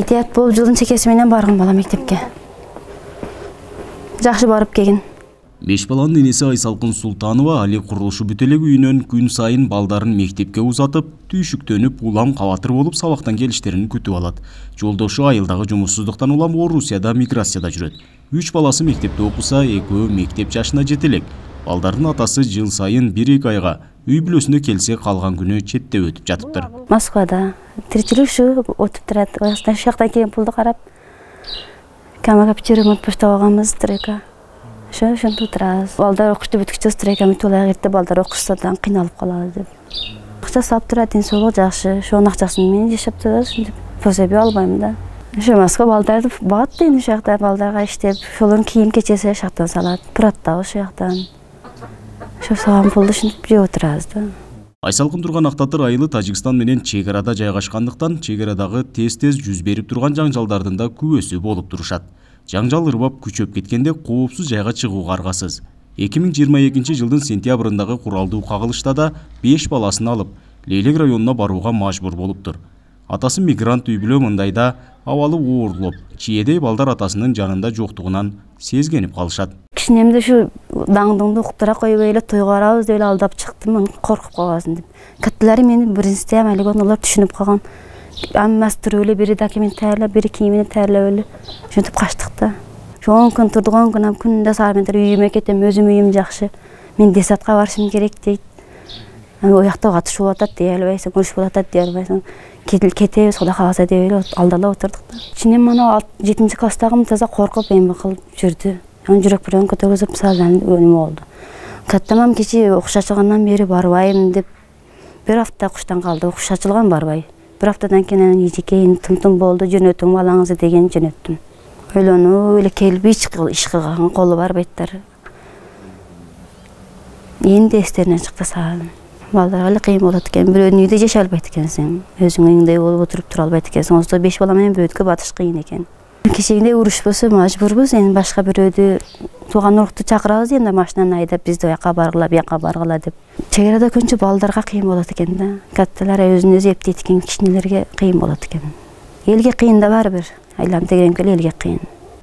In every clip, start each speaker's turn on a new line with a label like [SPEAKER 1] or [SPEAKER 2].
[SPEAKER 1] Этият болуп жылдын чекеси менен барган бала мектепке. Жакшы барып келген.
[SPEAKER 2] 5 баланын энеси Айсалкын Султанова али курулушу бүт элек үйүнөн күн сайын балдарын мектепке узатып, түйшүктөнүп, улам кабатыр болуп сабактан келиштерин күтүп алат. Жолдошу айылдагы жумушсуздуктан улам Орусияда миграцияда жүрөт. 3 баласы мектепте окуса, экөө мектеп жашына жете элек. Балдардын атасы жыл сайын 1-2 айга үй бүлөсүнө келсе, калган күнү четте өтүп жатыптыр.
[SPEAKER 1] Москвада тиричилик ушу өтүп турат. Ошондой жакта келип пулду карап, камага ремонт баштап алганбыз, стройка. Ошентип турабыз. Балдар окушту бүткүчө стройканы толук эрте балдар окушса да кыйналып калалы деп. Акча сап турат, ден соолук жакшы. Ошонун акчасын менен жашап турабыз. Пособие албайм да. Ошо Москва балдарды багат дейм, ошол жакта балдарга иштеп, ошолордун кийим кечеси ошол жактан салат. Пураттабы ошол жактан. Ошо салган пулду ушинтип жеп отурабыз да.
[SPEAKER 2] Айсалкын турган Актатыр айылы Тажикстан менен чек арада жайгашкандыктан, чек арадагы тез-тез жүз берип турган жаңжалдардын да күбөсү болуп турушат. Жаңжал ырбап күчөп кеткенде коопсуз жайга чыгууга аргасыз. 2022 жылдын сентябрындагы куралдуу кагылышта да 5 баласын алып, Лейлек районуна барууга мажбур болуптур. Атасы мигрант үй бүлө мындайда абалы оорлоп, чиедей балдар атасынын жанында жоктугунан сезгенип калышат.
[SPEAKER 1] Кичинемде ушу даңдыңды уктура койбой эле тойго барабыз деп алдап чыктым, коркуп калбасын деп. Каттылары мени биринчи эле олар түшүнүп калган. Аммасы туруп эле бири документ таярлап, бири кийимин таярлап эле ошентип качтык да. Ошо 10 күн турдук, 10 күн күндө саат менен үйүмө кетем, өзүм үйүм жакшы. Мен десатка барышым керек дейт. Оякта катышып болуп атат дей албайсың, уруш болуп атат дей албайсың. Кетебиз, Кудай кааласа деп эле алдалап отурдук да. Ичинен мана 7-чи класстагым таза коркуп эме кылып жүрдү. Жүрөк бирөөн көтөргүзүп салган өнүм болду. Каттамам кечи окуш ачылгандан бери барбайм деп бир апта окуштан калды. Окуш ачылган барбай. Bir haftadan keyin ijikeyin tım boldu, jönötüm balаңызы деген jönöttüm. Öylönüp эле келип иш кылган колу бар беттер. Энди эстеринен чыкты саам. Балдарга эле кыйын болот экен, бирөөнүн үйдө жашай албайт экенсиң. Өзүң үйүңдө болуп отуруп тура албайт экенсиң. Ошо 5 бала менен бирөөдүккө батыш кыйын экен. Кечегине уруш болсо мажбурбуз, эми башка бирөөдү тууган урукту чакырабыз, энди машинаны айдап бизди оякка баргыла, буякка баргыла деп. Чек арада көбүнчө балдарга кыйын болот экен да. Катталар өзүн өзү эптейт экен, кичинелерге кыйын болот экен. Элге кыйын да барбир. Айланып дегенке элге кыйын.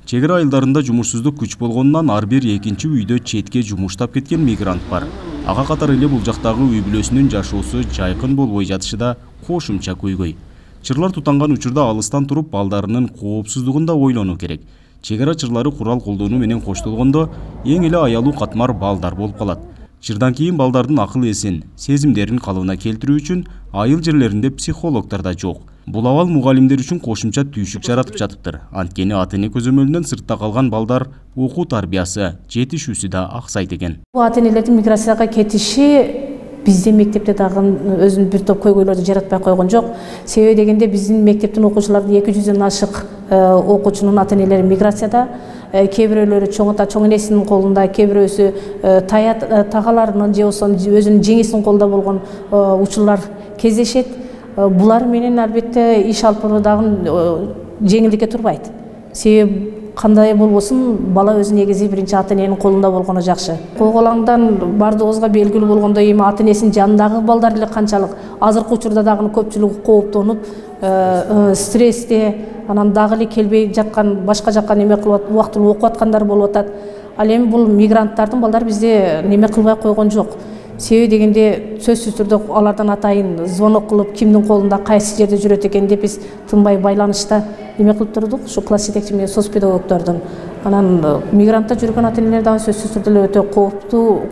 [SPEAKER 2] Чек ара айылдарында жумушсуздук күч болгонунан ар бир экинчи үйдө четке жумуштап кеткен мигрант бар. Ага катары эле бул жактагы үй бүлөсүнүн жашоосу жайкын болбой жатышы да кошумча көйгөй. Чырлар тутанган учурда алыстан туруп балдарынын коопсуздугун да ойлонуу керек. Чек ара чырлары курал колдонуу менен коштолгондо эң эле аялуу катмар балдар болуп калат. Чырдан кийин балдардын акыл эсин, сезимдерин калыбына келтирүү үчүн айыл жерлеринде психологдор да жок. Бул абал мугалимдер үчүн кошумча түйшүк жаратып жатыптыр. Анткени ата-эне көзөмөлүнөн сыртта калган балдар окуу тарбиясы, жетишүүсү да аксайт экен.
[SPEAKER 3] Бул ата-энелердин миграцияга кетиши бизде мектепте дагы өзүнүн бир топ көйгөйлөрдү жаратпай койгон жок. Себеби дегенде биздин мектептин окуучуларынын 200дөн ашык окуучунун ата-энелери миграцияда. Кээ бирөөлөрү чоң ата чоң энесинин колунда, кээ бирөөсү тагаларынын же болбосо өзүнүн жеңесинин колунда болгон учурлар кездешет. Булар менен албетте иш алып баруу дагы жеңилдикке турбайт. Себеби кандай болбосун бала өзү негизи биринчи ата-эненин колунда болгону жакшы. Койголаңдан бардыгыбызга белгилүү болгондой эми ата-энесинин жанындагы балдар эле канчалык азыркы учурда дагы көпчүлүгү кооптонуп, стрессте, анан дагы эле келбей жаткан, башка жакка неме кылып убактылуу окуп аткандар болуп атат. Ал эми бул мигранттардын балдары бизде неме кылбай койгон жок. Себеби дегенде сөзсүз түрдө алардан атайын звонок кылып, кимдин колунда кайсы жерде жүрөт экен деп биз тынбай байланышта неме кылып турдук, ушу класс жетекчи менен соц педагогдордун. Анан мигрантта жүргөн ата-энелер дагы сөзсүз түрдө эле өтө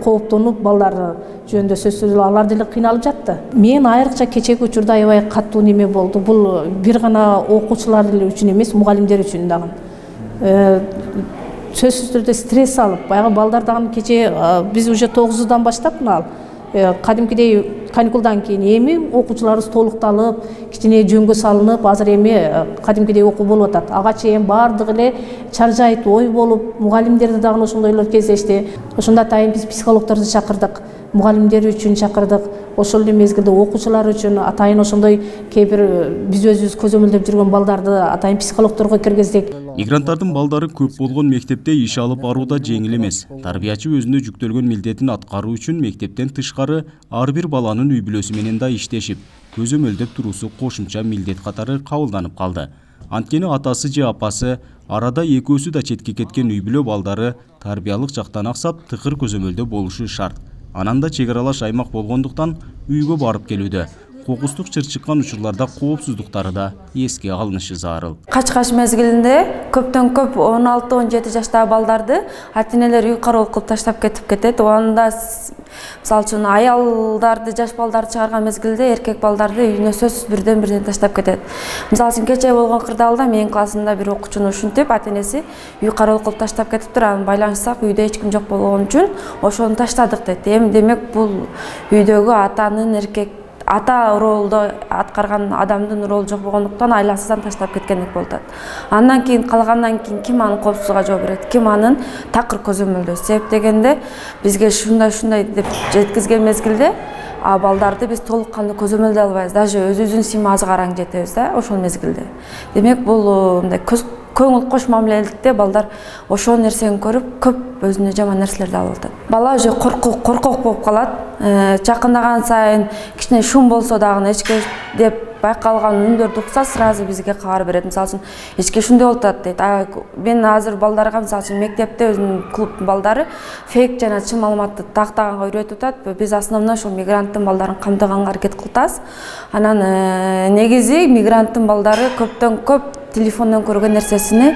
[SPEAKER 3] кооптонуп, балдары жөнүндө сөзсүз эле алар деле кыйналып жатты. Мен айрыкча кечеги учурда аябай каттуу неме болду. Бул бир гана окуучулар үчүн эмес, мугалимдер үчүн дагы. Сөзсүз түрдө стресс алып, баягы балдар дагы кече биз уже 9-дан баштап мына кадимкидей каникулдан кийин эми окуучуларыбыз толукталып, кичине жөнгө салынып, азыр эми кадимкидей окуу болуп атат. Ага чейин бардыгы эле чаржайт ой болуп, мугалимдерде дагы ошондойлор кездешти. Ошондо атайын биз психологдорду чакырдык, мугалимдер үчүн чакырдык. Ошол эле мезгилде окуучулар үчүн атайын ошондой кээ бир биз өзүбүз көзөмөлдөп жүргөн балдарды атайын психологдорго киргиздик.
[SPEAKER 2] Мигранттардын балдары көп болгон мектепте иш алып баруу да жеңил эмес. Тарбиячы өзүнө жүктөлгөн милдетин аткаруу үчүн мектептен тышкары ар бир баланын үй бүлөсү менен да иштешип, көзөмөлдөп туруусу кошумча милдет катары кабылданып калды. Анткени атасы же апасы арада экөөсү да четке кеткен үй бүлө балдары тарбиялык жактан аксап тыкыр көзөмөлдө болушу шарт. Ананда чек аралаш аймак болгондуктан үйгө барып келүүдө кокустук чыр чыккан учурларда коопсуздуктары да эске алынышы зарыл.
[SPEAKER 4] Кач мезгилинде көптөн көп 16-17 жаштагы балдарды ата-энелер үй кароол кылып таштап кетип кетет. Анда мисалы үчүн аялдарды, жаш балдарды чыгарган мезгилде эркек балдарды үйүнө сөзсүз бирден таштап кетет. Мисалы үчүн кечээ болгон кырдаалда менин классымда бир окуучуну ушинтип ата-энеси үй кароол кылып таштап кетиптир. Анан байланышсак үйдө эч ким жок болгон үчүн ошону таштадык дейт. Эми демек бул үйдөгү атанын ата ролду аткарган адамдын ролу жок болгондуктан айласыздан таштап кеткендик болуп атат. Андан кийин калгандан кийин ким анын коопсуздугуна жооп берет, ким анын такыр көзөмөлдөө. Себеп дегенде бизге ушундай деп жеткизген мезгилде балдарды биз толук кандуу көзөмөлдөй албайбыз. Даже өзүбүздүн сыймазы караң жетебиз да ошол мезгилде. Демек бул мындай көңүл кош мамилеликте балдар ошол нерсени көрүп көп өзүнө жаман нерселерди алып атат. Бала уже коркок болуп калат. Жакындаган сайын кичине шум болсо дагы эчке деп байкалган үндөрдү укса сразу бизге кабар берет. Мисалы үчүн эчке ушундай болуп атат дейт. Мен азыр балдарга мисалы үчүн мектепте өзүнүн клубтун балдары фейк жана чын маалыматты тактаганга үйрөтүп атат. Биз основной ошол мигранттын балдарын камтыганга аракет кылып атабыз. Анан негизи мигранттын балдары көптөн көп телефондон көргөн нерсесини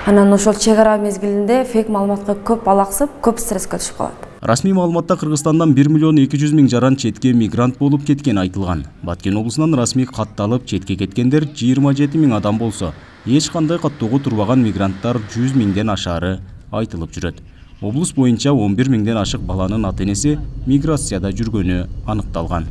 [SPEAKER 4] анан ошол чек ара мезгилинде фейк маалыматка көп алаксып, көп стресске түшүп калат.
[SPEAKER 2] Расмий маалыматта Кыргызстандан 1 миллион 200 миң жаран четке мигрант болуп кеткени айтылган. Баткен облусунан расмий катталып четке кеткендер 27 миң адам болсо, эч кандай каттоого турбаган мигранттар 100 миңден ашаары айтылып жүрөт. Облус боюнча 11 миңден ашык баланын ата-энеси миграцияда жүргөнү аныкталган.